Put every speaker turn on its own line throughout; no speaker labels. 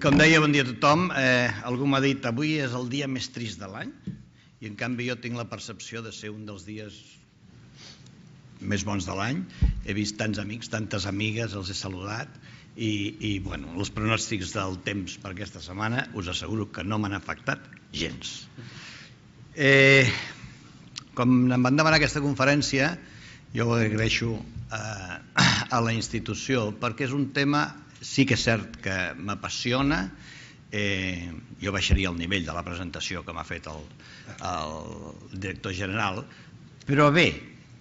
Com deia, bon dia a tothom. Algú m'ha dit, avui és el dia més trist de l'any i en canvi jo tinc la percepció de ser un dels dies més bons de l'any. He vist tants amics, tantes amigues, els he saludat i bueno, els pronòstics del temps per aquesta setmana us asseguro que no m'han afectat gens. Com em van demanar aquesta conferència, jo ho agraeixo a la institució perquè és un tema, sí que és cert que m'apassiona. Jo baixaria el nivell de la presentació que m'ha fet el director general, però bé,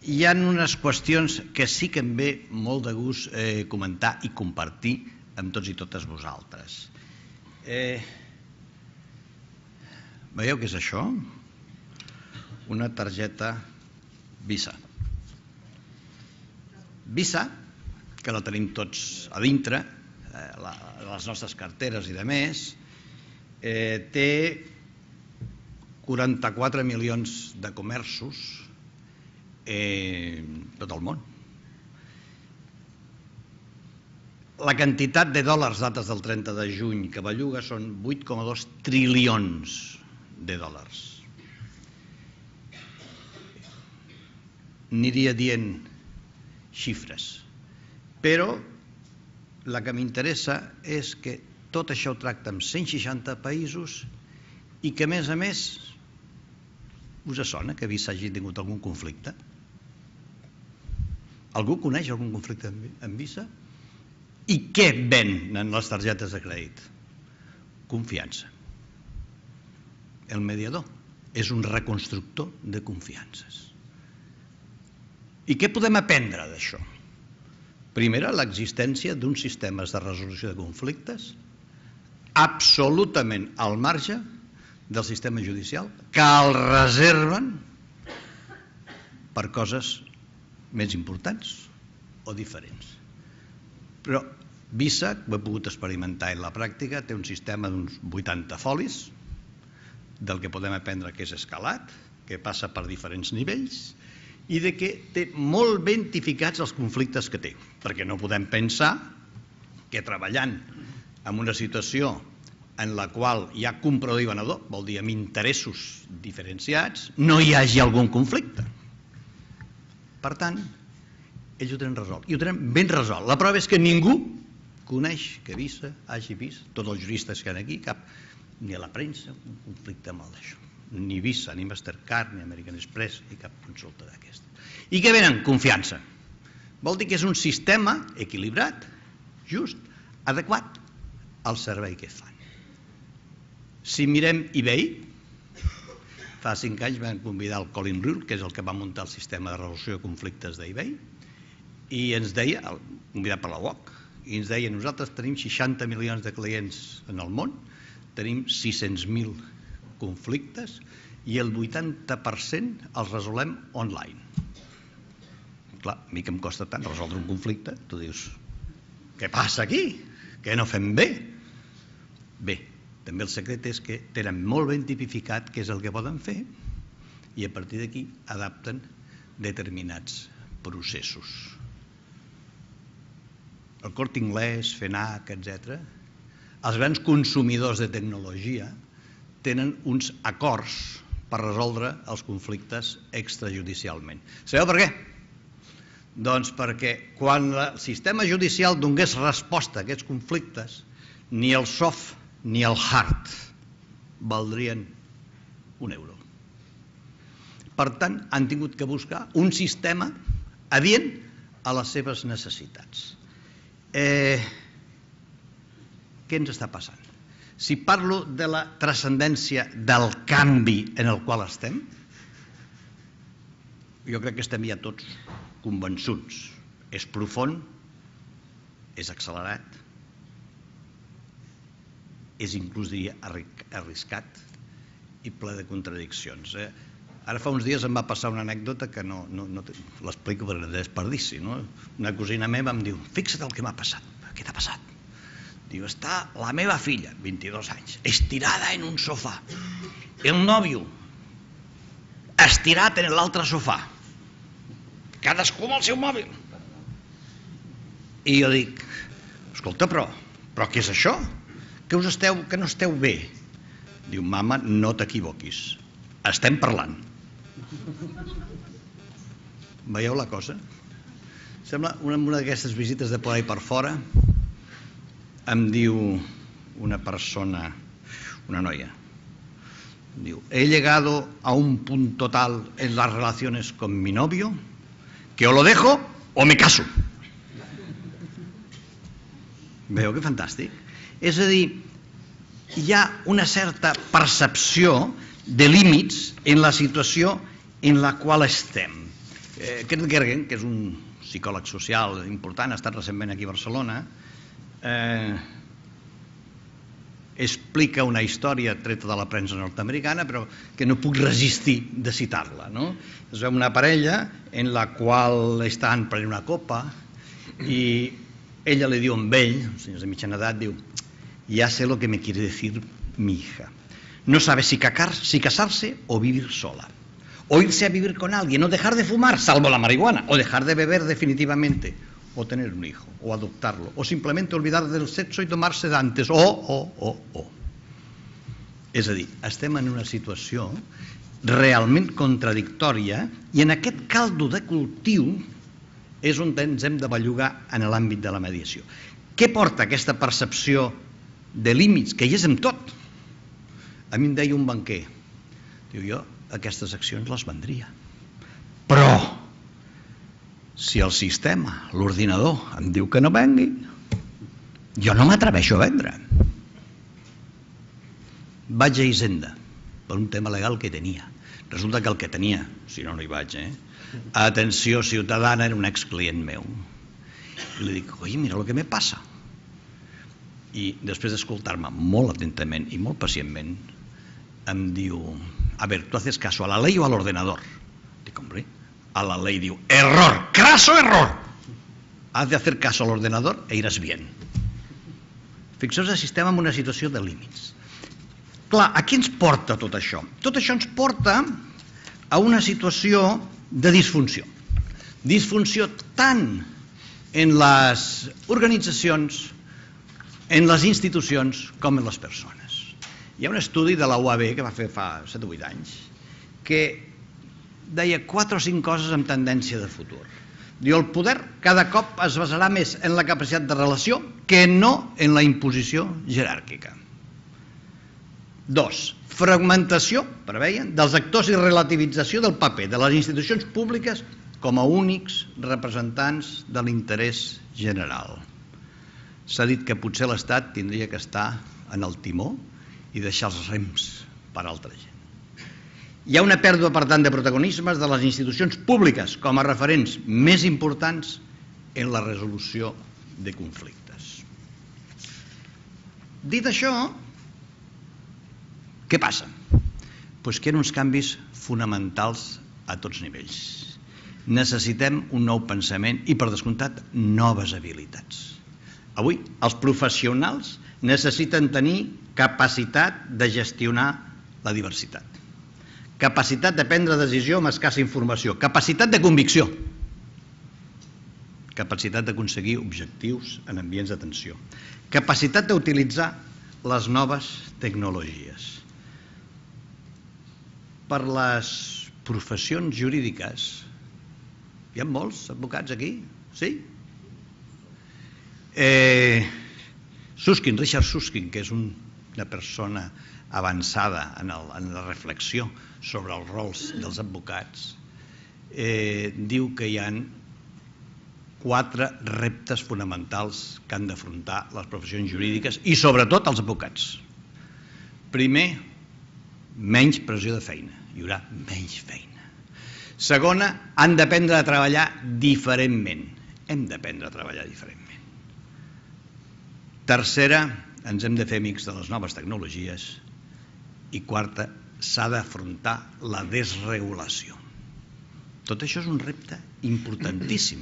hi ha unes qüestions que sí que em ve molt de gust comentar i compartir amb tots i totes vosaltres. Veieu què és això? Una targeta Visa. Visa, que la tenim tots a dintre, les nostres carteres i de més, té 44 milions de comerços tot el món. La quantitat de dòlars dates del 30 de juny que belluga són 8,2 trilions de dòlars. Aniria dient xifres, però la que m'interessa és que tot això ho tracta amb 160 països i que, a més, us sona que Visa hagi tingut algun conflicte? Algú coneix algun conflicte amb Visa? I què venen les targetes de crèdit? Confiança. El mediador és un reconstructor de confiances. I què podem aprendre d'això? Primera, l'existència d'uns sistemes de resolució de conflictes absolutament al marge del sistema judicial, que el reserven per coses més importants o diferents. Però Visa, ho he pogut experimentar en la pràctica, té un sistema d'uns 80 folis, del que podem aprendre que és escalat, que passa per diferents nivells, i de que té molt ben tipificats els conflictes que té, perquè no podem pensar que treballant en una situació en la qual hi ha comprador i venedor, vol dir amb interessos diferenciats, no hi hagi algun conflicte. Per tant, ells ho tenen resolt, i ho tenen ben resolt. La prova és que ningú coneix que Visa hagi vist, tots els juristes que hi ha aquí, ni a la premsa, un conflicte amb el d'això. Ni Visa, ni Mastercard, ni American Express, ni cap consulta d'aquesta. I què venen? Confiança. Vol dir que és un sistema equilibrat, just, adequat al servei que fan. Si mirem eBay, fa 5 anys vam convidar el Colin Rule, que és el que va muntar el sistema de resolució de conflictes d'eBay, i ens deia, convidat per la UOC, i ens deia, nosaltres tenim 60 milions de clients en el món, tenim 600.000 conflictes i el 80% els resolem online. Clar, a mi que em costa tant resoldre un conflicte, tu dius, què passa aquí? Què no fem bé? Bé, també el secret és que tenen molt ben tipificat què és el que poden fer i a partir d'aquí adapten determinats processos. El Corte Inglés, FNAC, etc., els grans consumidors de tecnologia tenen uns acords per resoldre els conflictes extrajudicialment. Sabeu per què? Doncs perquè quan el sistema judicial donés resposta a aquests conflictes, ni el soft ni el hard valdrien €1. Per tant, han tingut que buscar un sistema adient a les seves necessitats. Què ens està passant? Si parlo de la transcendència del canvi en el qual estem, jo crec que estem ja tots convençuts. És profund, és accelerat, és inclús diria arriscat i ple de contradiccions. Ara fa uns dies em va passar una anècdota que no l'explico per desperdici. Una cosina meva em diu, fixa't el que m'ha passat. Què t'ha passat? Diu, està la meva filla, 22 anys, estirada en un sofà. El nòvio, estirat en l'altre sofà. Cadascú amb el seu mòbil. I jo dic, escolta, però què és això? que no esteu bé. Diu, mama, no t'equivoquis, estem parlant. Veieu la cosa? Sembla una d'aquestes visites de por ahí per fora. Em diu una persona, una noia, diu, he llegado a un punto tal en las relaciones con mi novio que o lo dejo o me caso. Veieu que fantàstic? És a dir, hi ha una certa percepció de límits en la situació en la qual estem. Kierkegaard, que és un psicòleg social important, ha estat recentment aquí a Barcelona, explica una història treta de la premsa nord-americana, però que no puc resistir de citar-la. Es veu una parella en la qual estan prenent una copa i ella li diu amb ell, senyors de mitjana edat, diu, ya sé lo que me quiere decir mi hija. No sabe si casarse o vivir sola. O irse a vivir con alguien, o dejar de fumar, salvo la marihuana, o dejar de beber definitivamente, o tener un hijo, o adoptarlo, o simplemente olvidar del sexo y tomar sedantes, o. És a dir, estem en una situació realment contradictòria i en aquest caldo de cultiu és on ens hem de bellugar en l'àmbit de la mediació. Què porta aquesta percepció de límits, que hi és amb tot? A mi em deia un banquer, diu, jo aquestes accions les vendria, però si el sistema, l'ordinador, em diu que no vengui, jo no m'atreveixo a vendre. Vaig a Hisenda per un tema legal que tenia. Resulta que el que tenia, si no, no hi vaig, Atenció Ciutadana, era un exclient meu. I li dic, oi, mira el que me passa. I després d'escoltar-me molt atentament i molt pacientment, em diu, a ver, ¿tú haces caso a la ley o al ordenador? Dic, hombre, a la ley. Diu, error, craso error. Has de hacer caso al ordenador e iràs bien. Fixeu-vos si estem en una situació de límits. Clar, a què ens porta tot això? Tot això ens porta a una situació de disfunció. Disfunció tant en les organitzacions, en les institucions, com en les persones. Hi ha un estudi de la UAB que va fer fa 7 o 8 anys que deia 4 o 5 coses amb tendència de futur. Diu, el poder cada cop es basarà més en la capacitat de relació que no en la imposició jeràrquica. 2. Fragmentació, preveien, dels actors i relativització del paper de les institucions públiques com a únics representants de l'interès general. S'ha dit que potser l'Estat tindria que estar en el timó i deixar els rems per a altra gent. Hi ha una pèrdua, per tant, de protagonismes de les institucions públiques com a referents més importants en la resolució de conflictes. Dit això, què passa? Doncs que hi ha uns canvis fonamentals a tots nivells. Necessitem un nou pensament i, per descomptat, noves habilitats. Avui, els professionals necessiten tenir capacitat de gestionar la diversitat, capacitat de prendre decisió amb escassa informació, capacitat de convicció, capacitat d'aconseguir objectius en ambients de tensió, capacitat d'utilitzar les noves tecnologies. Per les professions jurídiques, hi ha molts advocats aquí? Sí? Richard Susskind, que és una persona avançada en la reflexió sobre els rols dels advocats, diu que hi ha 4 reptes fonamentals que han d'afrontar les professions jurídiques i sobretot els advocats. Primer, menys pressió de feina, hi haurà menys feina. Segona, han d'aprendre a treballar diferentment, hem d'aprendre a treballar diferentment. Tercera, ens hem de fer amics de les noves tecnologies. I quarta, s'ha d'afrontar la desregulació. Tot això és un repte importantíssim.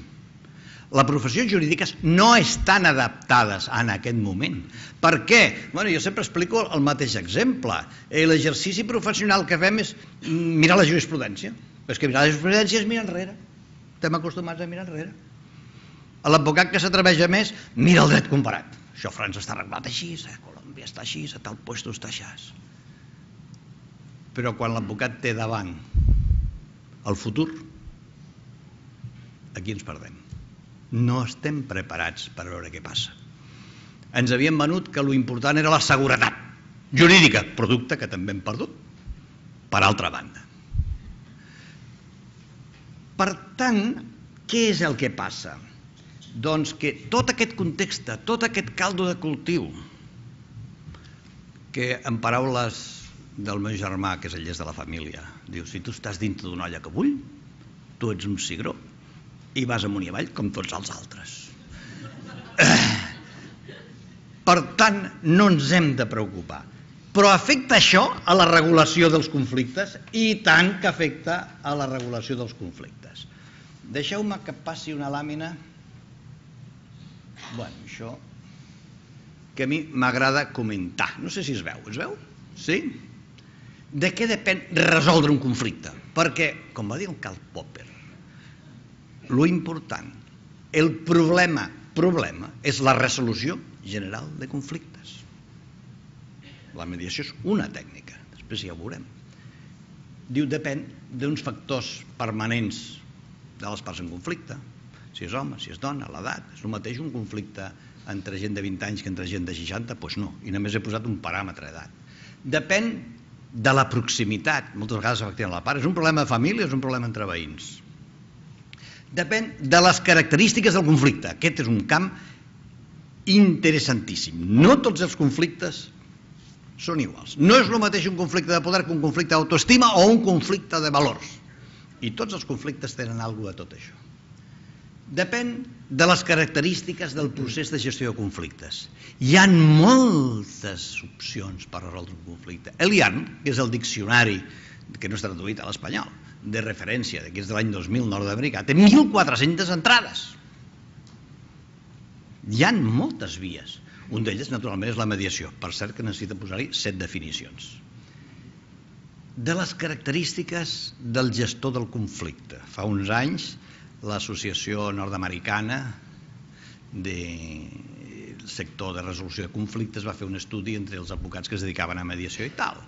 Les professions jurídiques no estan adaptades en aquest moment. Per què? Jo sempre explico el mateix exemple. L'exercici professional que fem és mirar la jurisprudència. Però és que mirar la jurisprudència és mirar enrere. Estem acostumats a mirar enrere. L'advocat que s'atreveix a més mira el dret comparat. Això a França està arreglat així, a Colòmbia està així, a tal puesto està així. Però quan l'advocat té davant el futur, aquí ens perdem. No estem preparats per veure què passa. Ens havien venut que l'important era la seguretat jurídica, producte que també hem perdut, per altra banda. Per tant, què és el que passa? Doncs que tot aquest context, tot aquest caldo de cultiu, que en paraules del meu germà, que és el llest de la família, diu, si tu estàs dintre d'una olla que bull, tu ets un cigró i vas amunt i avall com tots els altres. Per tant, no ens hem de preocupar. Però afecta això a la regulació dels conflictes? I tant que afecta a la regulació dels conflictes. Deixeu-me que passi una làmina. Bueno, això que a mi m'agrada comentar. No sé si es veu. Es veu? Sí? De què depèn resoldre un conflicte? Perquè, com va dir el Karl Popper, lo important, el problema és la resolució general de conflictes. La mediació és una tècnica, després ja ho veurem. Diu, depèn d'uns factors permanents de les parts en conflicte, si és home, si és dona, l'edat. És el mateix un conflicte entre gent de 20 anys que entre gent de 60? Doncs no, i només he posat un paràmetre d'edat. Depèn de la proximitat, moltes vegades efectivament la part. És un problema de família, és un problema entre veïns. Depèn de les característiques del conflicte. Aquest és un camp interessantíssim. No tots els conflictes són iguals. No és el mateix un conflicte de poder que un conflicte d'autoestima o un conflicte de valors. I tots els conflictes tenen alguna cosa de tot això. Depèn de les característiques del procés de gestió de conflictes. Hi ha moltes opcions per resoldre un conflicte. Elian, que és el diccionari, que no està traduït a l'espanyol, de referència, que és de l'any 2000 nord-americà, té 1.400 entrades. Hi ha moltes vies. Un d'elles, naturalment, és la mediació. Per cert, que necessita posar-hi 7 definicions. De les característiques del gestor del conflicte. Fa uns anys, l'Associació Nord-Americana del sector de resolució de conflictes va fer un estudi entre els advocats que es dedicaven a mediació i tal.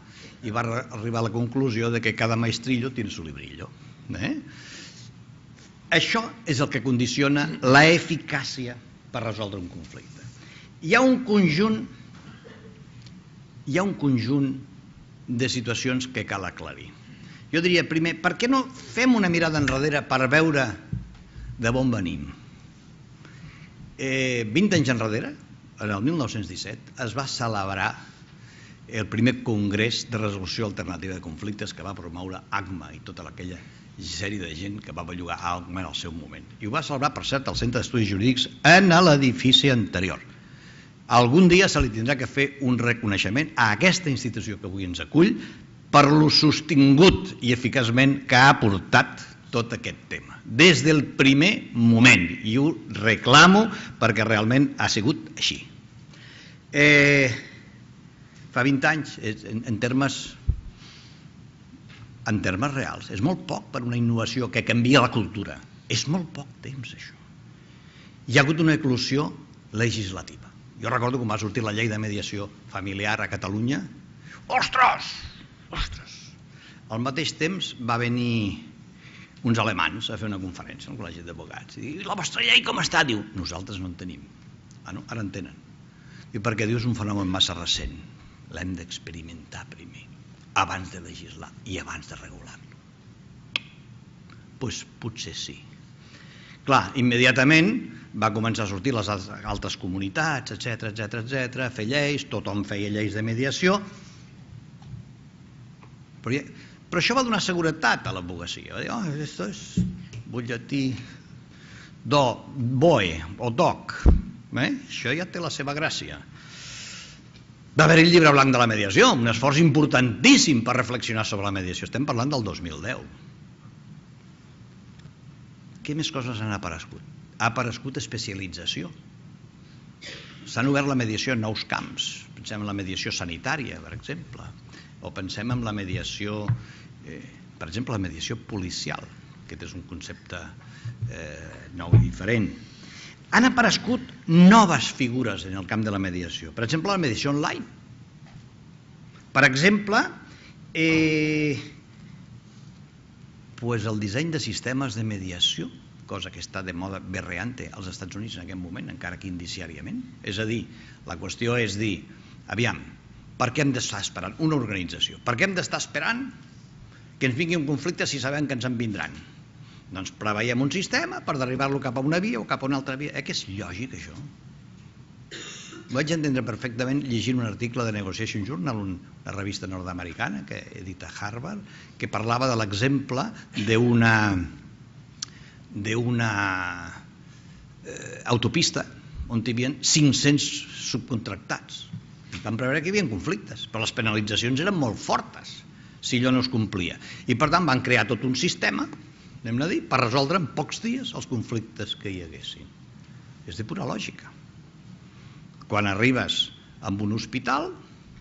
I va arribar a la conclusió de que cada maestrillo tiene su librillo. Això és el que condiciona l'eficàcia per resoldre un conflicte. Hi ha un conjunt de situacions que cal aclarir. Jo diria, primer, per què no fem una mirada enrere per veure d'on venim? 20 anys enrere, en el 1917, es va celebrar el primer congrés de resolució alternativa de conflictes que va promoure ACMA i tota aquella sèrie de gent que va bellugar ACMA en el seu moment. I ho va celebrar, per cert, al Centre d'Estudis Jurídics en l'edifici anterior. Algun dia se li tindrà que fer un reconeixement a aquesta institució que avui ens acull per lo sostingut i eficaçment que ha portat tot aquest tema. Des del primer moment, i ho reclamo perquè realment ha sigut així. Fa 20 anys, en termes reals, és molt poc per una innovació que canvia la cultura. És molt poc temps, això. Hi ha hagut una eclosió legislativa. Jo recordo quan va sortir la llei de mediació familiar a Catalunya. Ostres! Al mateix temps va venir uns alemans a fer una conferència al Col·legi d'Advocats. I la vostra llei com està? Diu, nosaltres no en tenim. Ah, no? Ara en tenen. I perquè diu, és un fenomen massa recent. L'hem d'experimentar primer, abans de legislar i abans de regular-lo. Doncs potser sí. Clar, immediatament va començar a sortir les altres comunitats, etc., fer lleis, tothom feia lleis de mediació, però això va donar seguretat a l'advocacia. Va dir, això és butlletí BOE o DOC, això ja té la seva gràcia. Va haver el llibre blanc de la mediació, un esforç importantíssim per reflexionar sobre la mediació. Estem parlant del 2010. Què més coses han aparegut? Ha aparegut especialització. S'han obert la mediació en nous camps. Pensem en la mediació sanitària, per exemple, o pensem en la mediació, per exemple, la mediació policial. Aquest és un concepte nou i diferent. han aparegut noves figures en el camp de la mediació. Per exemple, la mediació online. Per exemple, el disseny de sistemes de mediació, cosa que està de moda berreante als Estats Units en aquest moment, encara que indiciàriament. És a dir, la qüestió és dir, aviam, per què hem d'estar esperant una organització? Per què hem d'estar esperant que ens vingui un conflicte si sabem que ens en vindran? Doncs preveiem un sistema per derribar-lo cap a una via o cap a una altra via. Que és lògic, això? Ho vaig entendre perfectament llegint un article de Negotiation Journal, una revista nord-americana que edita Harvard, que parlava de l'exemple d'una autopista on hi havia 500 subcontractats. Van preveure que hi havia conflictes, però les penalitzacions eren molt fortes si allò no es complia. I per tant van crear tot un sistema, anem a dir, per resoldre en pocs dies els conflictes que hi haguessin. És de pura lògica. Quan arribes a un hospital,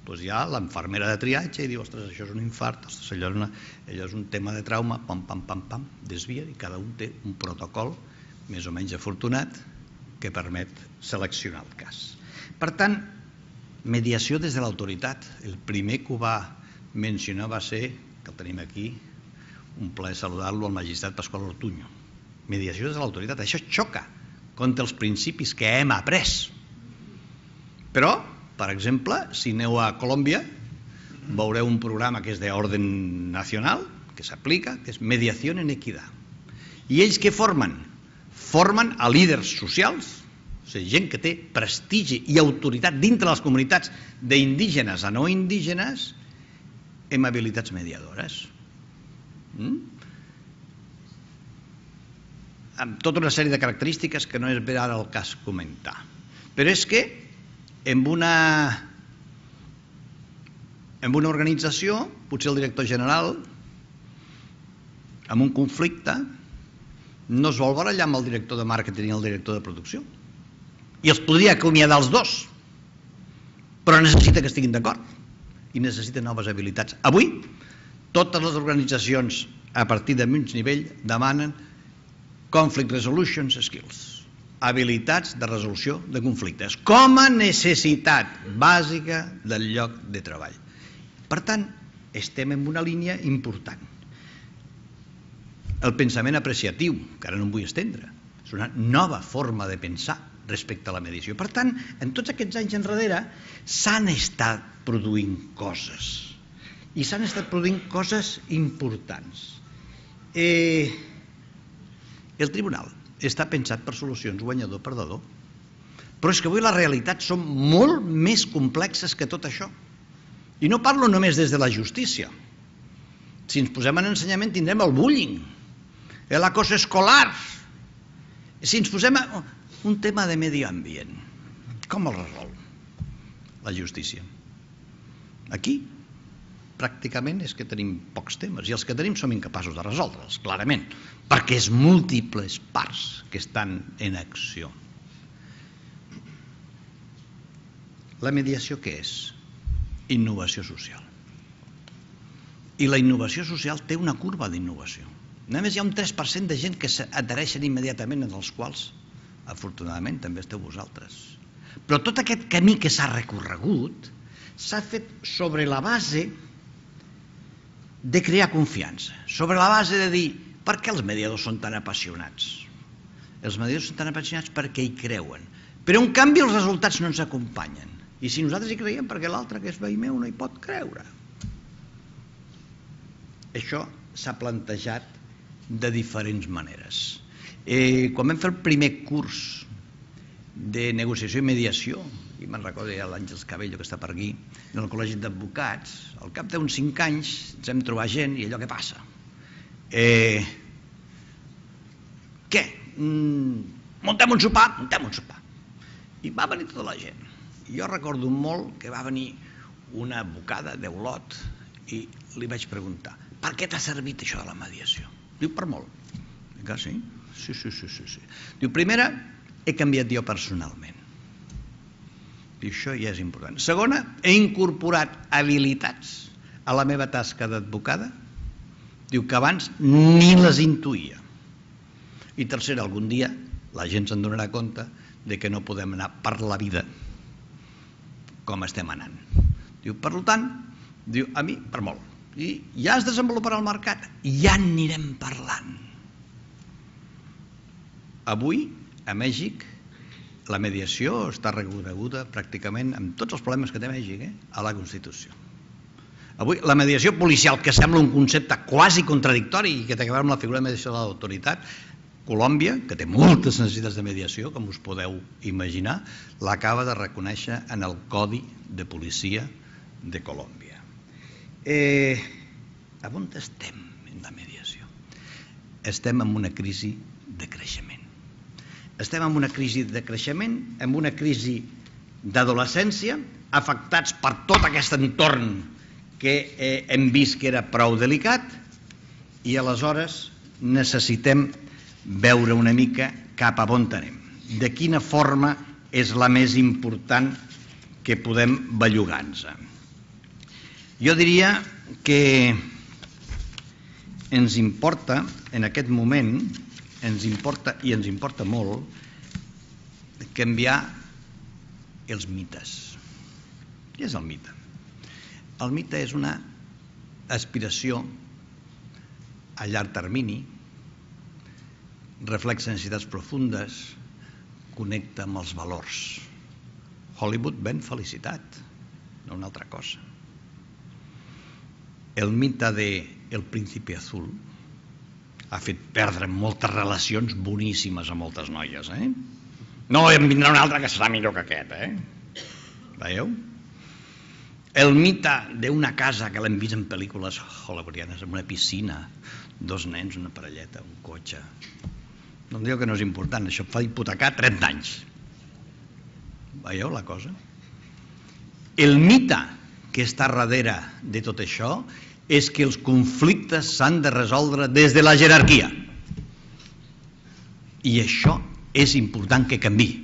doncs hi ha l'infermera de triatge i diu, ostres, això és un infart, ostres, allò és un tema de trauma, pam, pam, pam, pam, desvia, i cada un té un protocol més o menys afortunat que permet seleccionar el cas. Per tant, mediació des de l'autoritat. El primer que ho va mencionar va ser, que el tenim aquí, un plaer saludar-lo, al magistrat Pasqual Ortuño. Mediació des de l'autoritat. Això xoca contra els principis que hem après. Però, per exemple, si aneu a Colòmbia, veureu un programa que és d'orden nacional, que s'aplica, que és Mediació en Equitat. I ells què formen? Formen a líders socials, o sigui, gent que té prestigi i autoritat dintre les comunitats d'indígenes a no indígenes, amb habilitats mediadores. Amb tota una sèrie de característiques que no és bé ara el cas comentar. Però és que en una organització, potser el director general, amb un conflicte, no es vol barallar amb el director de màrqueting i el director de producció. I els podria acomiadar els dos, però necessita que estiguin d'acord i necessita noves habilitats. Avui, totes les organitzacions a partir de mig nivell demanen conflict resolution skills, habilitats de resolució de conflictes, com a necessitat bàsica del lloc de treball. Per tant, estem en una línia important. El pensament apreciatiu, que ara no em vull estendre, és una nova forma de pensar respecte a la mediació. Per tant, en tots aquests anys enrere s'han estat produint coses, i s'han estat produint coses importants. El tribunal està pensat per solucions guanyador-perdedor, però és que avui les realitats són molt més complexes que tot això. I no parlo només des de la justícia. Si ens posem en ensenyament tindrem el bullying, l'acoso escolar. Si ens posem un tema de medi ambient, com el resol la justícia? Aquí pràcticament és que tenim pocs temes, i els que tenim som incapaços de resoldre'ls, clarament, perquè és múltiples parts que estan en acció. La mediació què és? Innovació social. I la innovació social té una curva d'innovació. Només hi ha un 3% de gent que s'adhereixen immediatament, en els quals, afortunadament, també esteu vosaltres. Però tot aquest camí que s'ha recorregut s'ha fet sobre la base de crear confiança, sobre la base de dir per què els mediadors són tan apassionats? Els mediadors són tan apassionats perquè hi creuen, però en canvi els resultats no ens acompanyen. I si nosaltres hi creiem, perquè l'altre, que és veí meu, no hi pot creure. Això s'ha plantejat de diferents maneres. Quan vam fer el primer curs de negociació i mediació, i me'n recordo ja l'Àngels Cabello, que està per aquí, en el col·legi d'advocats, al cap d'uns 5 anys ens hem trobat gent i allò què passa? Què? Muntem un sopar? Muntem un sopar. I va venir tota la gent. I jo recordo molt que va venir una advocada d'Olot i li vaig preguntar, per què t'ha servit això de la mediació? Diu, per molt. Dic, sí? Sí. Diu, primera, he canviat jo personalment. I això ja és important. Segona, he incorporat habilitats a la meva tasca d'advocada, diu, que abans ni les intuïa. I tercera, algun dia la gent se'n donarà compte de que no podem anar per la vida com estem anant. Diu, per tant, diu, a mi, per molt. I ja es desenvoluparà el mercat, ja anirem parlant. Avui, a Mèxic, la mediació està reconeguda pràcticament amb tots els problemes que té Mèxic a la Constitució. Avui, la mediació policial, que sembla un concepte quasi contradictori i que té a veure amb la figura de mediació de l'autoritat, Colòmbia, que té moltes necessitats de mediació, com us podeu imaginar, l'acaba de reconèixer en el Codi de Policia de Colòmbia. A on estem en la mediació? Estem en una crisi de creixement. Estem en una crisi de creixement, en una crisi d'adolescència, afectats per tot aquest entorn que hem vist que era prou delicat, i aleshores necessitem veure una mica cap a on anem. De quina forma és la més important que podem bellugar-nos. Jo diria que ens importa, en aquest moment, ens importa molt, canviar els mites. Què és el mite? El mite és una aspiració a llarg termini, reflexa necessitats profundes, connecta amb els valors. Hollywood ven felicitat, no una altra cosa. El mite de El Príncipe Azul ha fet perdre moltes relacions boníssimes a moltes noies. No, en vindrà un altre que serà millor que aquest. Veieu? El mite d'una casa que l'hem vist en pel·lícules hollywoodianes, amb una piscina, 2 nens, una parelleta, un cotxe. No em diu que no és important, això fa hipotecar 30 anys. Veieu la cosa? El mite que està darrere de tot això és que els conflictes s'han de resoldre des de la jerarquia. I això és important que canviï.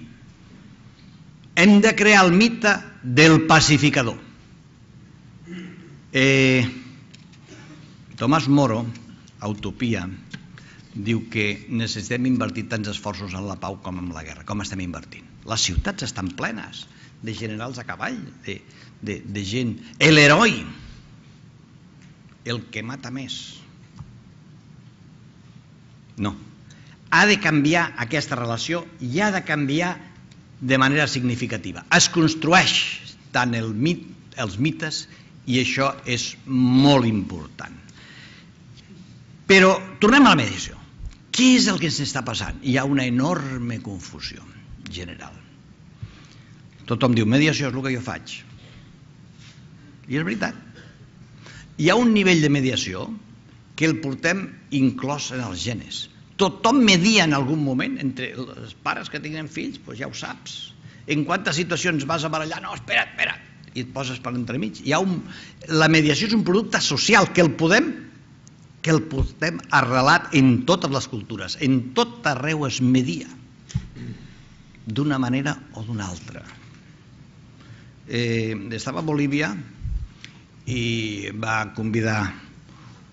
Hem de crear el mite del pacificador. Tomàs Moro, a Utopia, diu que necessitem invertir tants esforços en la pau com en la guerra. Com estem invertint? Les ciutats estan plenes de generals a cavall, de gent. L'heroi, el que mata més. No. Ha de canviar aquesta relació i ha de canviar de manera significativa. Es construeix tant els mites i això és molt important. Però tornem a la mediació. Què és el que ens està passant? Hi ha una enorme confusió general. Tothom diu, mediació és el que jo faig. I és veritat. Hi ha un nivell de mediació que el portem inclòs en els genes. Tothom media en algun moment, entre els pares que tenen fills, doncs ja ho saps. En quantes situacions vas a barallar? No, espera't, i et poses per entremig. La mediació és un producte social que el podem arrelat en totes les cultures. En tot arreu es media, d'una manera o d'una altra. Estava a Bolívia i va convidar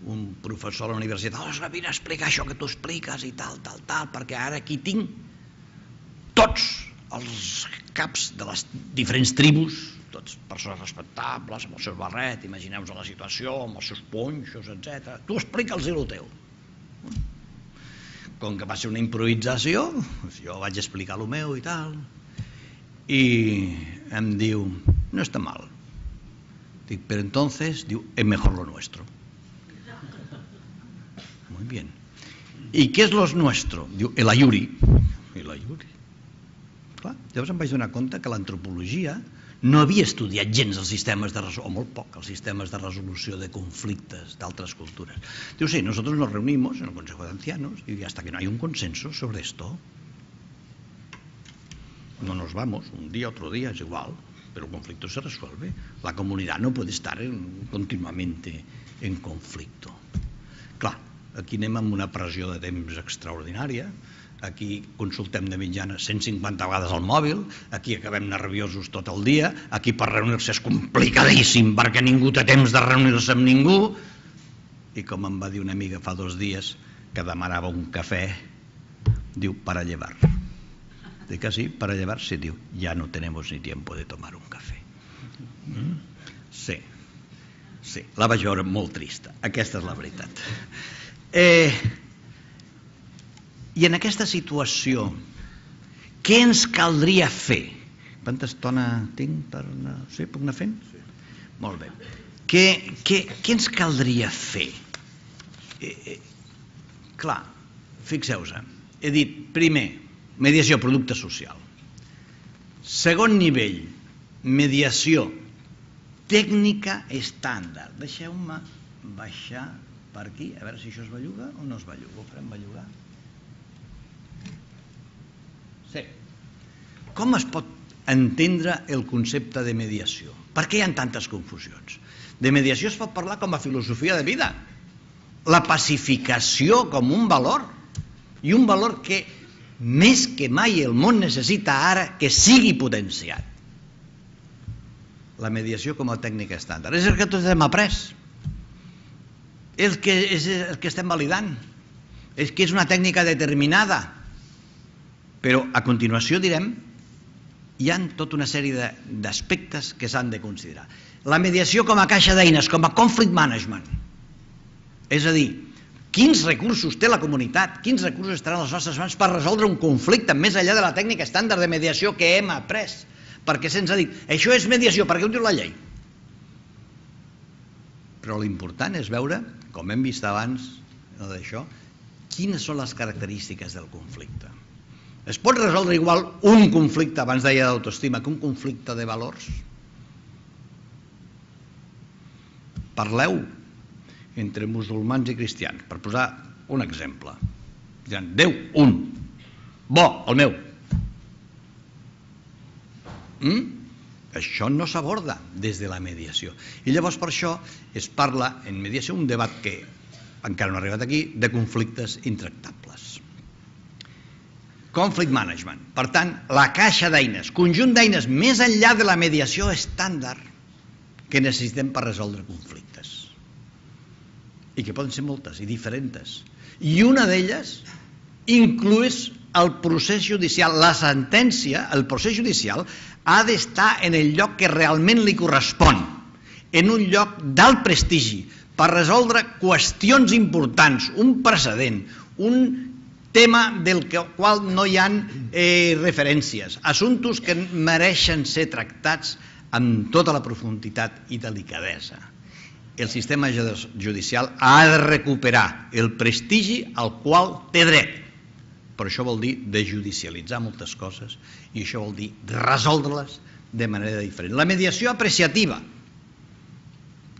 un professor a la universitat, vine a explicar això que tu expliques i tal, perquè ara aquí tinc tots els caps de les diferents tribus, tots persones respectables, amb el seu barret, imagineu-vos la situació, amb els seus ponxos, etc. Tu explica'ls el teu. Com que va ser una improvisació, jo vaig explicar el meu i tal, i em diu, no està mal. Dic, però entonces, diu, es mejor lo nuestro. Muy bien. ¿Y qué es lo nuestro? Diu, el ayuri. El ayuri. Clar, llavors em vaig donar compte que l'antropologia no havia estudiat gens els sistemes de resolució, o molt poc, els sistemes de resolució de conflictes d'altres culturas. Diu, sí, nosotros nos reunimos en el Consejo de Ancianos y hasta que no hay un consenso sobre esto, no nos vamos, un día, otro día, es igual, pero el conflicto se resuelve. La comunidad no puede estar continuamente en conflicto. Clar, aquí anem amb una pressió de temps extraordinària, aquí consultem de mitjana 150 vegades el mòbil, aquí acabem nerviosos tot el dia, aquí per reunir-se és complicadíssim perquè ningú té temps de reunir-se amb ningú, i com em va dir una amiga fa 2 dies que demanava un cafè, diu, para llevar. Dic así, para llevarse, diu, ya no tenemos ni tiempo de tomar un café. Sí, sí, la vaig veure molt trista, aquesta és la veritat. I en aquesta situació, què ens caldria fer? Quanta estona tinc per anar? Sí, puc anar fent? Sí. Molt bé. Què ens caldria fer? Clar, fixeu-vos, he dit, primer, mediació, producte social. Segon nivell, mediació, tècnica estàndard. Deixeu-me baixar per aquí, a veure si això es belluga o no es belluga. Ho farem bellugar? Sí. Com es pot entendre el concepte de mediació? Per què hi ha tantes confusions? De mediació es pot parlar com a filosofia de vida. La pacificació com un valor, i un valor que més que mai el món necessita ara que sigui potenciat. La mediació com a tècnica estàndard. És el que tots hem après. És el que estem validant. És que és una tècnica determinada. Però a continuació direm, hi ha tota una sèrie d'aspectes que s'han de considerar. La mediació com a caixa d'eines, com a conflict management. És a dir, quins recursos té la comunitat, quins recursos estaran a les nostres mans per resoldre un conflicte més enllà de la tècnica estàndard de mediació que hem après. Perquè se'ns ha dit, això és mediació, perquè ho diu la llei. Però l'important és veure, com hem vist abans d'això, quines són les característiques del conflicte. Es pot resoldre igual un conflicte, abans deia d'autoestima, que un conflicte de valors? Parleu entre musulmans i cristians, per posar un exemple. Diran, Déu, un. Bo, el meu. Això no s'aborda des de la mediació. I llavors per això es parla en mediació, un debat que encara no ha arribat aquí, de conflictes intractables. Conflict management. Per tant, la caixa d'eines, conjunt d'eines més enllà de la mediació estàndard que necessitem per resoldre conflictes. I que poden ser moltes i diferents. I una d'elles inclueix el procés judicial. La sentència, el procés judicial, ha d'estar en el lloc que realment li correspon, en un lloc d'alt prestigi, per resoldre qüestions importants, un precedent, un tema del qual no hi ha referències, assumptes que mereixen ser tractats amb tota la profunditat i delicadesa. El sistema judicial ha de recuperar el prestigi al qual té dret. Però això vol dir desjudicialitzar moltes coses i això vol dir resoldre-les de manera diferent. La mediació apreciativa,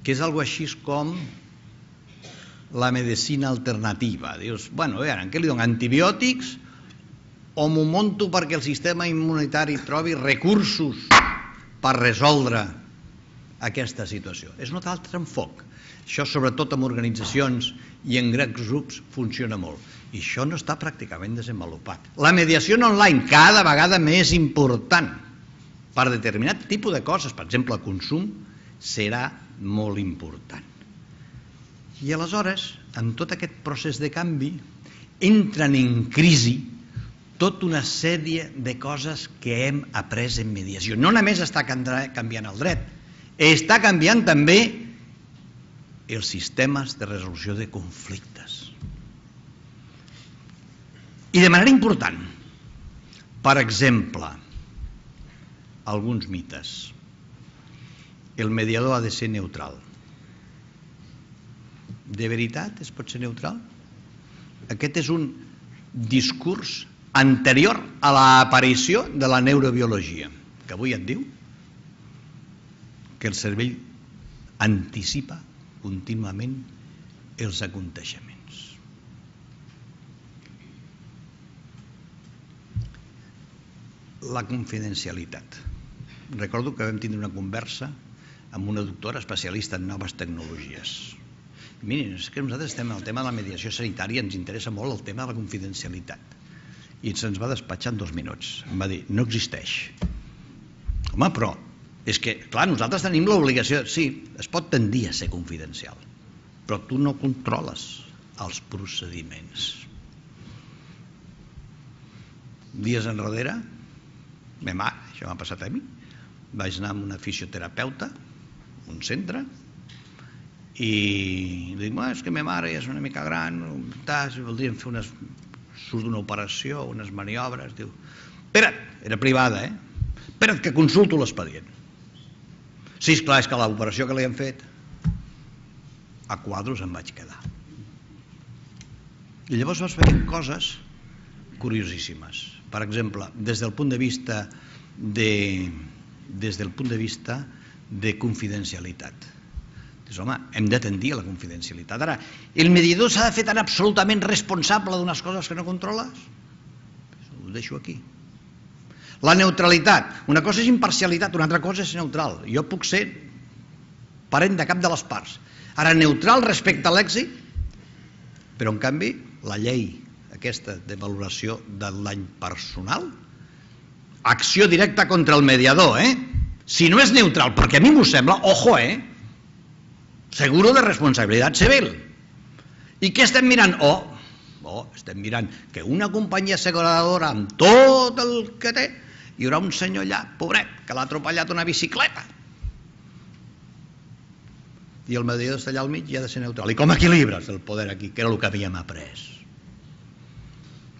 que és algo així com la medicina alternativa. Dius, bueno, què li dono, antibiòtics o m'ho monto perquè el sistema immunitari trobi recursos per resoldre aquesta situació? És un altre enfoc. Això, sobretot en organitzacions i en grans grups, funciona molt. I això no està pràcticament desenvolupat. La mediació online, cada vegada més important. Per determinat tipus de coses, per exemple, el consum, serà molt important. I aleshores, en tot aquest procés de canvi, entren en crisi tota una sèrie de coses que hem après en mediació. No només està canviant el dret, està canviant també els sistemes de resolució de conflictes. I de manera important, per exemple, alguns mites. El mediador ha de ser neutral. De veritat es pot ser neutral? Aquest és un discurs anterior a l'aparició de la neurobiologia, que avui et diu que el cervell anticipa contínuament els aconteixements. La confidencialitat. Recordo que vam tindre una conversa amb una doctora especialista en noves tecnologies. Miren, és que nosaltres estem en el tema de la mediació sanitària, ens interessa molt el tema de la confidencialitat. I se'ns va despatxar en 2 minuts. Em va dir, no existeix. Home, però és que, clar, nosaltres tenim l'obligació... Sí, es pot tendir a ser confidencial, però tu no controles els procediments. Dies enrere Això m'ha passat a mi. Vaig anar amb una fisioterapeuta, un centre, i dic, és que ma mare ja és una mica gran, voldríem fer surt d'una operació, unes maniobres. Diu, espera't, era privada, espera't que consulto l'expedient. Sí, esclar, és que l'operació que li han fet, a quadros em vaig quedar. I llavors vas veient coses curiosíssimes. Per exemple, des del punt de vista de confidencialitat. Dius, home, hem de tendir a la confidencialitat. Ara, el mediador s'ha de fer tan absolutament responsable d'unes coses que no controles? Ho deixo aquí. La neutralitat. Una cosa és imparcialitat, una altra cosa és neutral. Jo puc ser parent de cap de les parts. Ara, neutral respecte a l'èxit, però en canvi, la llei aquesta de valoració del dany personal, acció directa contra el mediador, si no és neutral, perquè a mi m'ho sembla, ojo, seguro de responsabilitat civil. I què estem mirant? Estem mirant que una companyia asseguradora amb tot el que té, hi haurà un senyor allà, pobret, que l'ha atropellat una bicicleta. I el mediador està allà al mig i ha de ser neutral. I com equilibres el poder aquí, que era el que havíem après?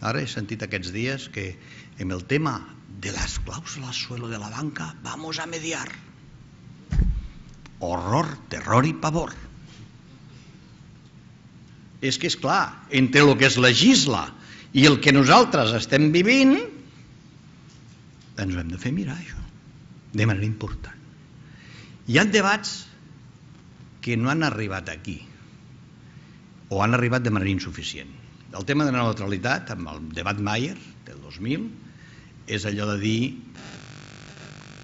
Ara he sentit aquests dies que en el tema de las cláusulas suelo de la banca vamos a mediar. Horror, terror i pavor. És que és clar, entre el que es legisla i el que nosaltres estem vivint, ens ho hem de fer mirar, això, de manera important. Hi ha debats que no han arribat aquí, o han arribat de manera insuficient. El tema de la neutralitat, amb el debat Mayer del 2000, és allò de dir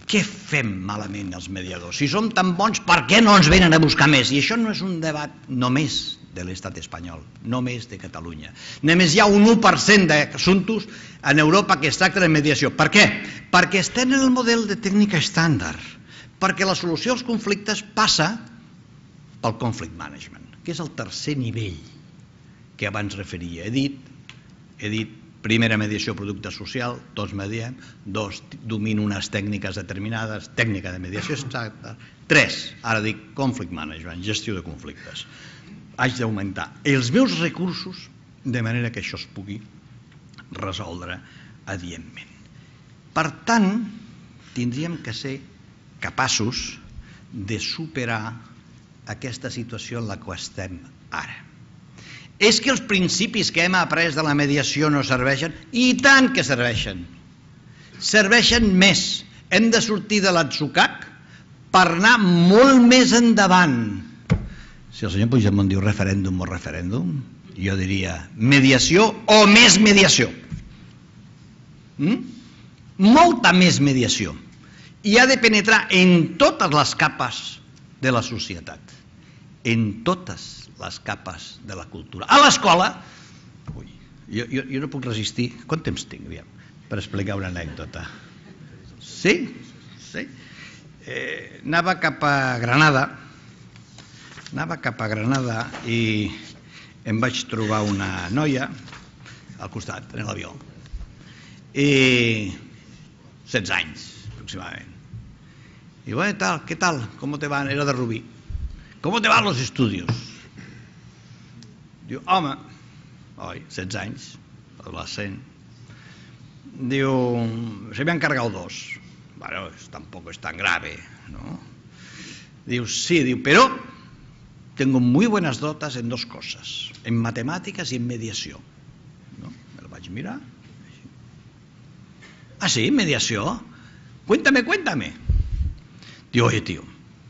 què fem malament els mediadors? Si som tan bons, per què no ens venen a buscar més? I això no és un debat només de l'estat espanyol, només de Catalunya. Només hi ha un 1% d'assumptes en Europa que es tracten de mediació. Per què? Perquè estem en el model de tècnica estàndard, perquè la solució als conflictes passa pel conflict management, que és el tercer nivell que abans referia. He dit primera mediació producte social, 2 mediem, 2 domino unes tècniques determinades, tècnica de mediació exacta, 3, ara dic conflict management, gestió de conflictes. Haig d'augmentar els meus recursos de manera que això es pugui resoldre adientment. Per tant, tindríem que ser capaços de superar aquesta situació en la que estem ara. És que els principis que hem après de la mediació no serveixen? I tant que serveixen. Serveixen més. Hem de sortir de l'atzucac per anar molt més endavant. Si el senyor Puigdemont diu referèndum o referèndum, jo diria mediació o més mediació. Molta més mediació. I ha de penetrar en totes les capes de la societat. En totes les capes de la cultura. A l'escola, jo no puc resistir, quant temps tinc per explicar una anècdota? Sí? Anava cap a Granada i em vaig trobar una noia al costat, en l'avió, i 16 anys aproximadament. I bueno, ¿qué tal? ¿Cómo te van? Era de Rubí. ¿Cómo te van los estudios? Diu, home, 16 anys, adolescent. Diu, se me han cargado 2. Bueno, tampoco es tan grave, ¿no? Diu, sí, diu, pero tengo muy buenas notas en 2 cosas, en matemáticas y en mediación. ¿No? Me lo vaig mirar. Ah, sí, mediació? Cuéntame. Diu, oye, tío,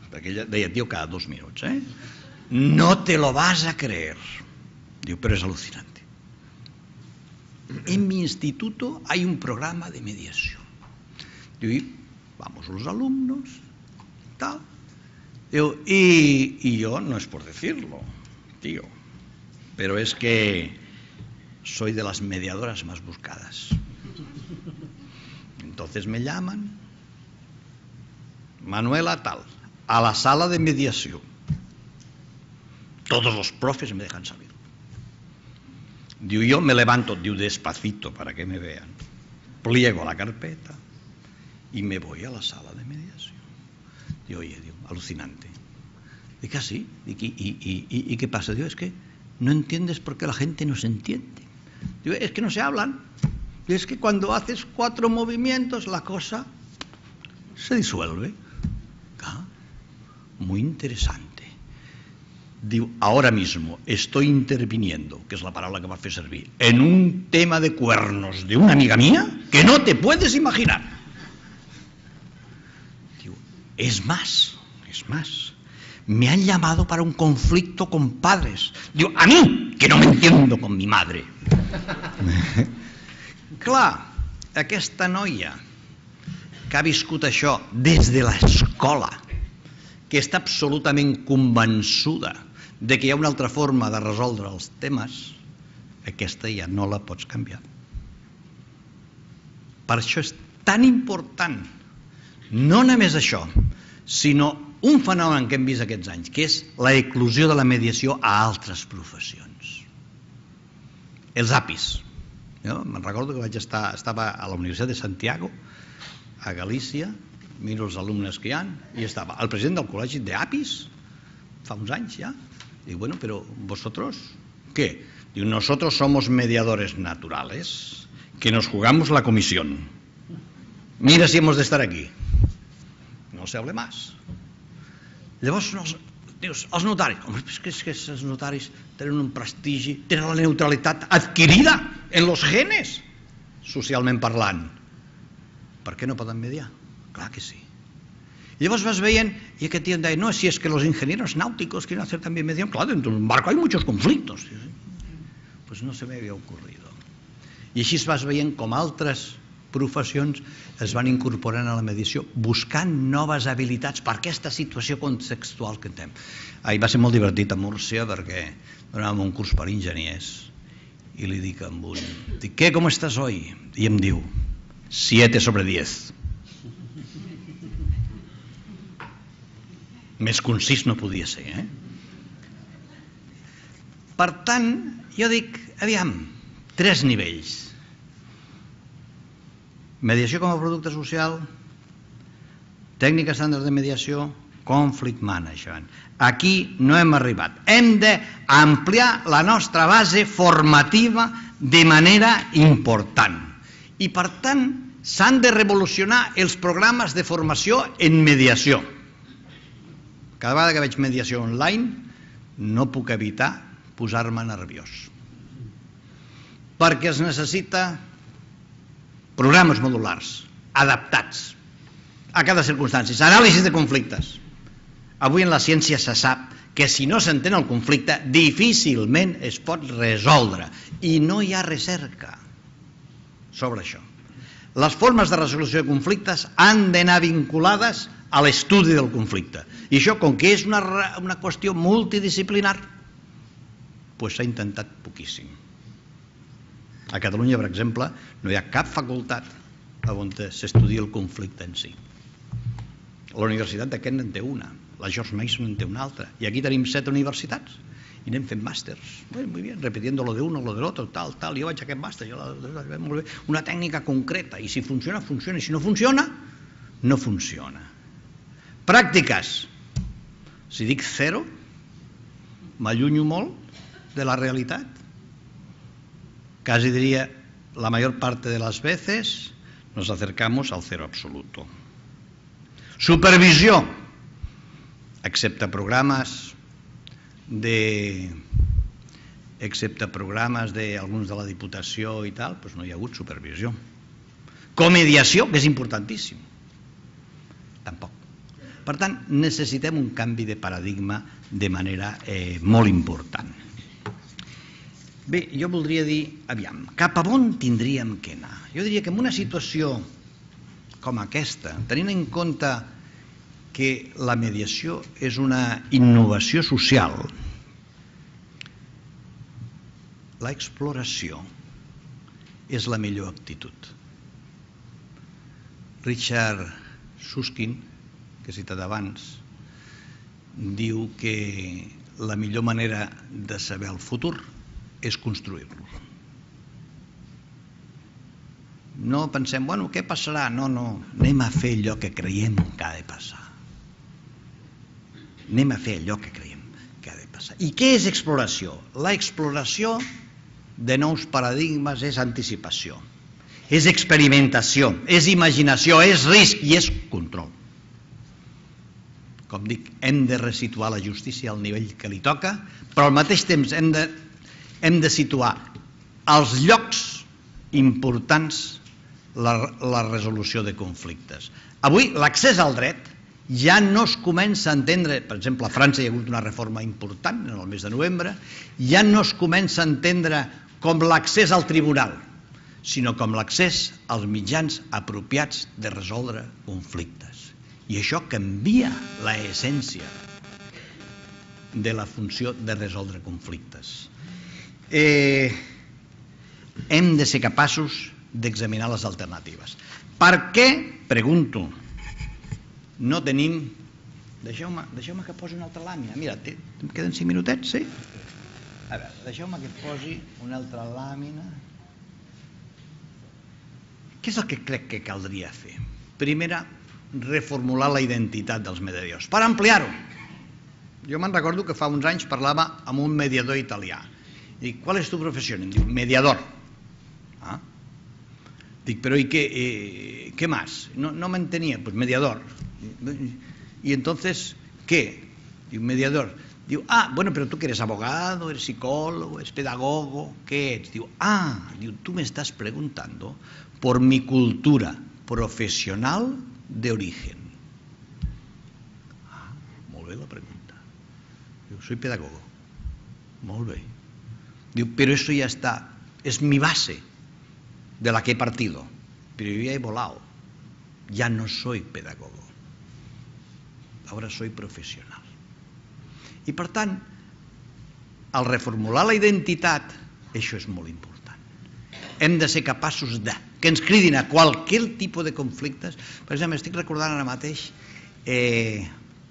perquè ella deia tío cada 2 minuts, no te lo vas a creer. Digo, pero es alucinante. En mi instituto hay un programa de mediación. Digo, vamos los alumnos, tal. Digo, y yo, no es por decirlo, tío, pero es que soy de las mediadoras más buscadas. Entonces me llaman, Manuela, tal, a la sala de mediación. Todos los profes me dejan salir. Diu, yo me levanto, diu, despacito para que me vean. Pliego la carpeta y me voy a la sala de mediación. Digo, oye, digo, alucinante. Digo, ¿ah, sí? ¿Y qué pasa? Digo, es que no entiendes por qué la gente no se entiende. Digo, es que no se hablan. Digo, es que cuando haces 4 movimientos la cosa se disuelve. ¿Ah? Muy interesante. Digo, ahora mismo estoy interviniendo, que es la palabra que va a hacer servir, en un tema de cuernos de una amiga mía que no te puedes imaginar. Digo, es más, me han llamado para un conflicto con padres. Digo, a mí, que no me entiendo con mi madre. Clar, aquesta noia que ha viscut això des de l'escola, que està absolutament convençuda de que hi ha una altra forma de resoldre els temes, aquesta ja no la pots canviar. Per això és tan important, no només això, sinó un fenomen que hem vist aquests anys, que és la eclosió de la mediació a altres professions. Els APIs. Jo me'n recordo que estava a la Universitat de Santiago, a Galícia, miro els alumnes que hi ha, i estava el president del col·legi d'APIs, fa uns anys ja. Digo, bueno, pero ¿vosotros qué? Digo, nosotros somos mediadores naturales, que nos jugamos la comisión. Mira si hemos de estar aquí. No se hable más. Llavors, dius, els notaris, home, és que els notaris tenen un prestigi, tenen la neutralitat adquirida en los genes, socialment parlant. Per què no poden mediar? Clar que sí. Y llavors vas veient, y aquest tío deia, no, si es que los ingenieros náuticos quieren hacer también mediación, claro, dentro de un barco hay muchos conflictos. Pues no se me había ocurrido. I així vas veient com altres professions es van incorporant a la mediació, buscant noves habilitats per aquesta situació contextual que tenim. Ahir va ser molt divertit a Múrcia perquè donàvem un curs per enginyers i li dic a un, dic, ¿qué, cómo estás hoy? I em diu, 7/10. Més concís no podia ser, eh? Per tant, jo dic, aviam, 3 nivells. Mediació com a producte social, tècnica estàndard de mediació, conflict management. Aquí no hem arribat. Hem d'ampliar la nostra base formativa de manera important. I, per tant, s'han de revolucionar els programes de formació en mediació. Cada vegada que veig mediació online no puc evitar posar-me nerviós. Perquè es necessita programes modulars, adaptats a cada circumstància, anàlisi de conflictes. Avui en la ciència se sap que si no s'entén el conflicte difícilment es pot resoldre i no hi ha recerca sobre això. Les formes de resolució de conflictes han d'anar vinculades a l'estudi del conflicte. I això, com que és una qüestió multidisciplinar, doncs s'ha intentat poquíssim. A Catalunya, per exemple, no hi ha cap facultat on s'estudia el conflicte en si. La Universitat de Kent en té una, la George Mason en té una altra, i aquí tenim 7 universitats i anem fent màsters, muy bien, repitiendo lo de uno, lo del otro, tal, jo vaig a aquest màster, molt bé, una tècnica concreta, i si funciona, funciona, i si no funciona, no funciona. Pràctiques. Si dic 0, m'allunyo molt de la realitat. Casi diría, la mayor parte de las veces nos acercamos al 0 absoluto. Supervisió. Excepte programes d'alguns de la Diputació i tal, doncs no hi ha hagut supervisió. Comediació, que és importantíssim. Tampoc. Per tant, necessitem un canvi de paradigma de manera molt important. Bé, jo voldria dir, aviam, cap a on tindríem que anar? Jo diria que en una situació com aquesta, tenint en compte que la mediació és una innovació social, l'exploració és la millor actitud. Richard Susskind, que he citat abans, diu que la millor manera de saber el futur és construir-lo. No pensem, bueno, què passarà? No, anem a fer allò que creiem que ha de passar. Anem a fer allò que creiem que ha de passar. I què és exploració? L'exploració de nous paradigmes és anticipació, és experimentació, és imaginació, és risc i és control. Com dic, hem de resituar la justícia al nivell que li toca, però al mateix temps hem de situar als llocs importants la resolució de conflictes. Avui l'accés al dret ja no es comença a entendre, per exemple a França hi ha hagut una reforma important en el mes de novembre, ja no es comença a entendre com l'accés al tribunal, sinó com l'accés als mitjans apropiats de resoldre conflictes. I això canvia l'essència de la funció de resoldre conflictes. Hem de ser capaços d'examinar les alternatives. Per què, pregunto, no tenim... Deixeu-me que posi una altra làmina. Mira, em queden 5 minutets, sí? A veure, deixeu-me que posi una altra làmina. Què és el que crec que caldria fer? Primera, reformular la identitat dels mediadors, per ampliar-ho. Jo me'n recordo que fa uns anys parlava amb un mediador italià. Dic, ¿cuál es tu profesión? Em diu, mediador. Dic, pero ¿y qué más? No me entendía, pues mediador. ¿Y entonces qué? Digo, mediador. Digo, bueno, pero tú que eres abogado, eres psicólogo, eres pedagogo, ¿qué eres? Digo, tú me estás preguntando por mi cultura profesional de origen. Molt bé la pregunta. Digo, soy pedagogo. Molt bé. Digo, pero eso ya está, es mi base de la que he partido, pero yo ya he volado, ya no soy pedagogo, ahora soy profesional. I per tant, al reformular la identitat, això és molt important. Hem de ser capaços que ens cridin a qualsevol tipus de conflictes. Per exemple, estic recordant ara mateix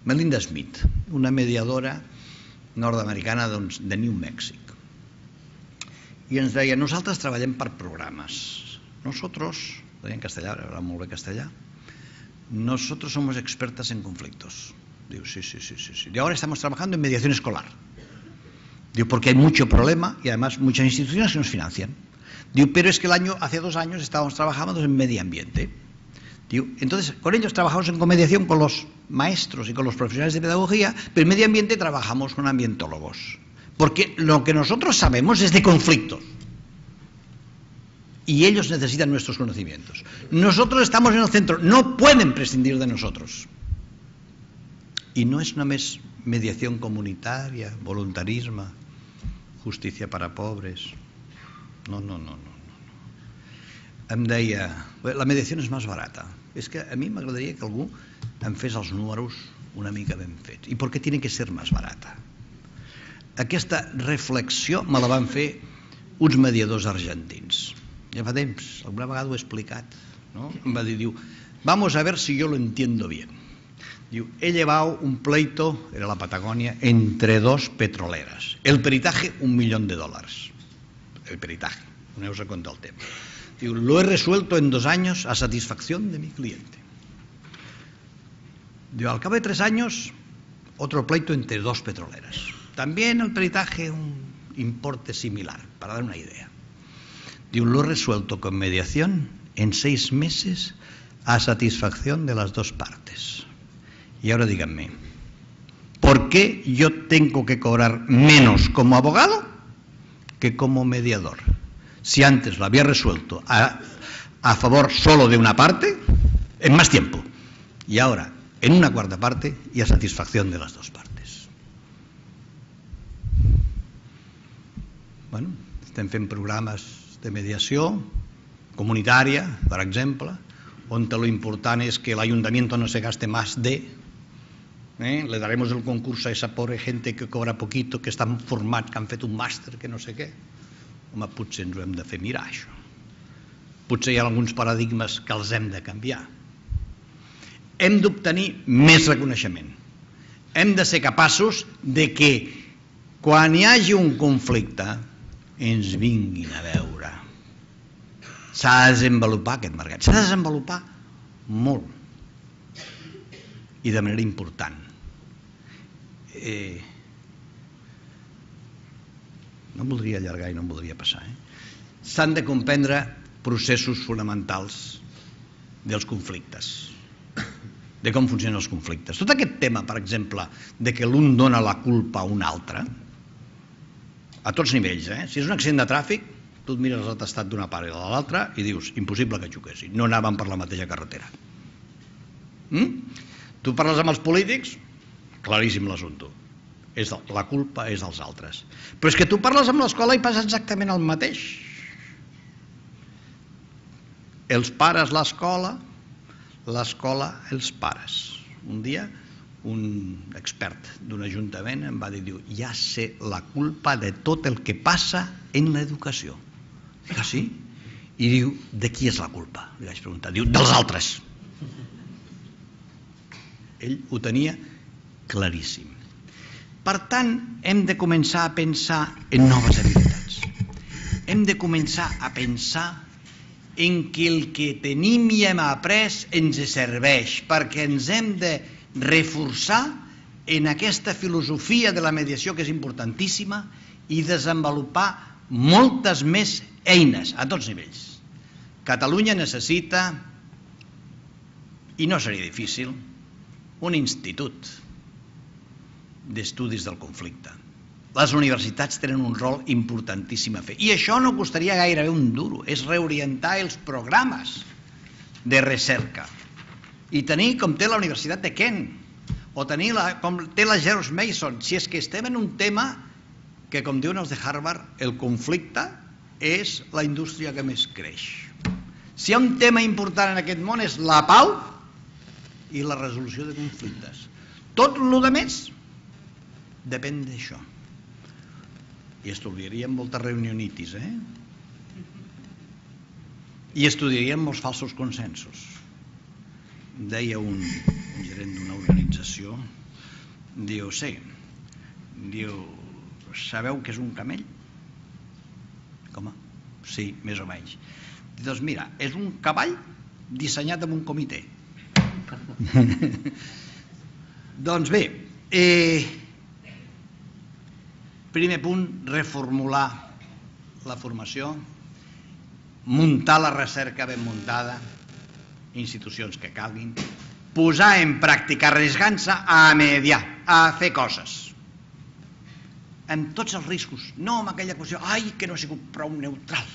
Melinda Smith, una mediadora nord-americana de New Mexico. I ens deia, nosaltres treballem per programes. Nosotros, deia en castellà, era molt bé castellà, nosotros somos expertas en conflictos. Digo, sí. Y ahora estamos trabajando en mediación escolar. Digo, porque hay mucho problema y además muchas instituciones que nos financian. Digo, pero es que hace 2 años estábamos trabajando en medio ambiente. Digo, entonces, con ellos trabajamos en comediación con los maestros y con los profesionales de pedagogía, pero en medio ambiente trabajamos con ambientólogos. Porque lo que nosotros sabemos es de conflictos. Y ellos necesitan nuestros conocimientos. Nosotros estamos en el centro, no pueden prescindir de nosotros. Y no es només mediación comunitaria, voluntarisme, justícia per a pobres. No. Em deia, la mediació és més barata. És que a mi m'agradaria que algú em fes els números una mica ben fets. I per què tiene que ser més barata? Aquesta reflexió me la van fer uns mediadors argentins. Ja fa temps, alguna vegada ho he explicat. Em va dir, vamos a ver si yo lo entiendo bien. He llevado un pleito, era la Patagonia, entre 2 petroleras. El peritaje, $1 millón. El peritaje, no os he contado el tema. Lo he resuelto en 2 años a satisfacción de mi cliente. Al cabo de 3 años, otro pleito entre 2 petroleras. También el peritaje, un importe similar, para dar una idea. Lo he resuelto con mediación en 6 meses a satisfacción de las 2 partes. Y ahora díganme, ¿por qué yo tengo que cobrar menos como abogado que como mediador? Si antes lo había resuelto a favor solo de una parte, en más tiempo, y ahora en una cuarta parte y a satisfacción de las 2 partes. Bueno, estem fent programes de mediació comunitària, per exemple, on lo important és que el ayuntamiento no se gaste más de... Le daremos el concurso a esa pobre gente que cobra poquito, que estan formats, que han fet un màster, que no sé què. Home, potser ens ho hem de fer mirar, això. Potser hi ha alguns paradigmes que els hem de canviar. Hem d'obtenir més reconeixement. Hem de ser capaços de que quan hi hagi un conflicte ens vinguin a veure. S'ha de desenvolupar aquest mercat. S'ha de desenvolupar molt i de manera important. No em voldria allargar i no em voldria passar. S'han de comprendre processos fonamentals dels conflictes, de com funcionen els conflictes. Tot aquest tema, per exemple, de que l'un dona la culpa a un altre, a tots nivells, si és un accident de tràfic, tu et mires l'atestat d'una part i de l'altra i dius, impossible que xoquessin, no anaven per la mateixa carretera. Tu parles amb els polítics, claríssim l'assumpte, la culpa és dels altres. Però és que tu parles amb l'escola i passa exactament el mateix. Els pares l'escola, l'escola els pares. Un dia un expert d'un ajuntament em va dir, ja sé la culpa de tot el que passa en l'educació. Dic, sí? I diu, de qui és la culpa? Li vaig preguntar. Diu, dels altres. Ell ho tenia claríssim. Per tant, hem de començar a pensar en noves habilitats. Hem de començar a pensar en què el que tenim i hem après ens serveix, perquè ens hem de reforçar en aquesta filosofia de la mediació que és importantíssima i desenvolupar moltes més eines a tots nivells. Catalunya necessita, i no seria difícil, un institut d'estudis del conflicte. Les universitats tenen un rol importantíssim a fer. I això no costaria gairebé un duro, és reorientar els programes de recerca. I tenir com té la Universitat de Kent, o tenir com té la George Mason, si és que estem en un tema que, com diuen els de Harvard, el conflicte és la indústria que més creix. Si hi ha un tema important en aquest món és la pau i la resolució de conflictes. Tot el que més depèn d'això. I estudiaríem moltes reunionitis, i estudiaríem molts falsos consensos. Deia un gerent d'una organització, diu, sí, sabeu què és un camell? Com? Sí, més o menys. Doncs mira, és un cavall dissenyat amb un comitè. Doncs bé, primer punt, reformular la formació, muntar la recerca ben muntada, institucions que calguin, posar en pràctica, arriesgant-se a mediar, a fer coses, amb tots els riscos, no amb aquella qüestió, ai, que no he sigut prou neutral,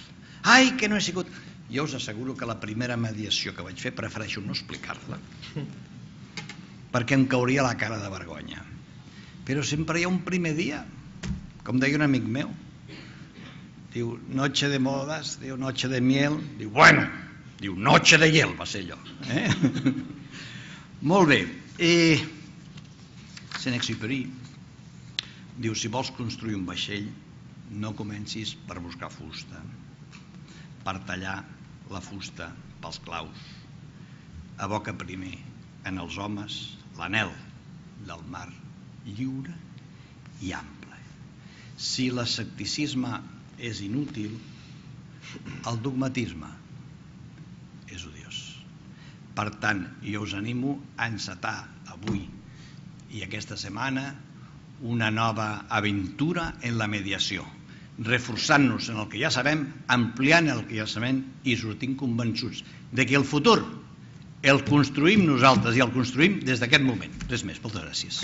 ai, que no he sigut... Jo us asseguro que la primera mediació que vaig fer prefereixo no explicar-la, perquè em cauria la cara de vergonya. Però sempre hi ha un primer dia, com deia un amic meu, diu, noche de modas, diu, noche de miel, diu, bueno, diu, noche de hiel va ser allò. Molt bé. Saint-Exupéry diu, si vols construir un vaixell, no comencis per buscar fusta, per tallar la fusta pels claus. Aboca primer en els homes l'anhel del mar lliure i ample. Si l'escepticisme és inútil, el dogmatisme és odiós. Per tant, jo us animo a encetar avui i aquesta setmana una nova aventura en la mediació, reforçant-nos en el que ja sabem, ampliant el que ja sabem i sortint convençuts de que el futur el construïm nosaltres i el construïm des d'aquest moment. Res més, moltes gràcies.